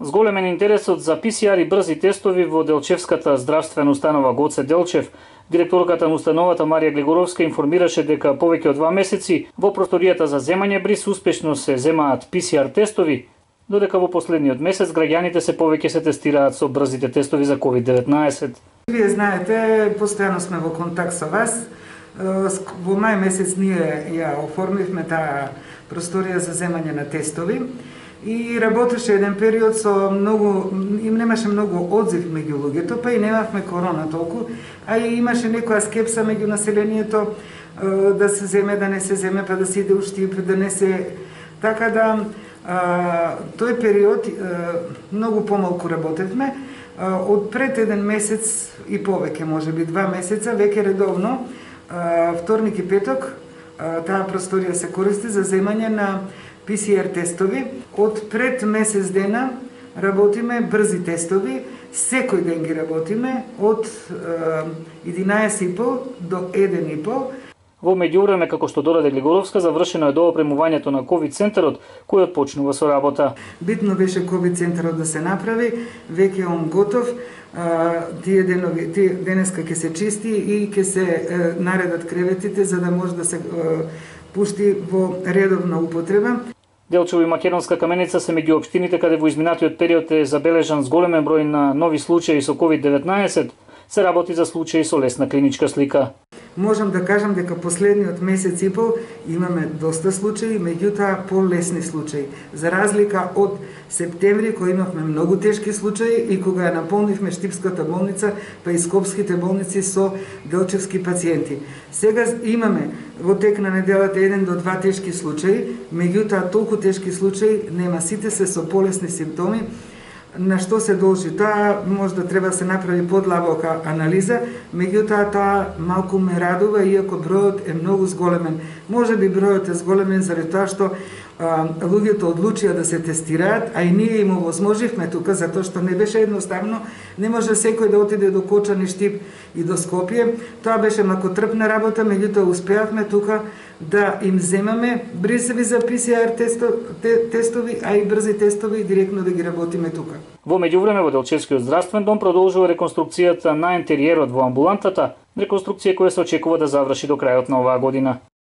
Зголемен интересот за ПСР и брзи тестови во Делчевската здравствена установа Гоце Делчев, директорката на установата Марија Глигоровска информираше дека повеќе од 2 месеци во просторијата за земање бриз успешно се земаат ПСР тестови, додека во последниот месец граѓаните се повеќе се тестираат со брзите тестови за COVID-19. Вие знаете, постојано сме во контакт со вас. Во мај месец ние ја оформивме таа просторија за земање на тестови и работеше еден период со многу, немаше многу одзив меѓу луѓето, па и немавме корона толку, а и имаше некоја скепса меѓу населението да се земе, да не се земе, па да се иде у Штип, да не се... Така да, тој период многу помалку работевме. Од пред еден месец и повеќе, можеби 2 месеца, веќе редовно, вторник и петок, таа просторија се користи за земање на ПСР тестови. Од пред месец дена работиме брзи тестови, секој ден ги работиме од 11:30 до 1:30. Во меѓувреме, како што додаде Глигоровска, завршено е доопремувањето на ковид центарот, којот почнува со работа. Битно беше ковид центарот да се направи, веќе он готов. Тие денеска ќе се чисти и ќе се наредат креветите за да може да се пушти во редовна употреба. Делчево и Македонска Каменица се меѓу општините каде во изминатиот период е забележан зголемен број на нови случаи со COVID-19, се работи за случаи со лесна клиничка слика. Можам да кажам дека последниот месец и пол имаме доста случаи, меѓутоа полесни случаи. За разлика од септември, кој имавме многу тешки случаи и кога ја наполнивме Штипската болница, па и Скопските болници со делчевски пациенти. Сега имаме во тек на неделата 1 до 2 тешки случаи, меѓутоа толку тешки случаи нема, сите се со полесни симптоми. На што се должи? Таа може да треба да се направи подлабока анализа, меѓутоа таа малку ме радува, иако бројот е многу зголемен. Може би бројот е зголемен заради тоа што луѓето одлучија да се тестираат, а и ние им овозможивме тука, затоа што не беше едноставно, не може секој да отиде до Кочани, Штип и до Скопје. Тоа беше макотрпна работа, меѓутоа успеавме тука да им земаме брзиви за ПСР тестови, а и брзи тестови директно да ги работиме тука. Во меѓувреме во Делчевскиот здравствен дом продолжува реконструкцијата на интериерот во амбулантата, реконструкција која се очекува да заврши до крајот на оваа година.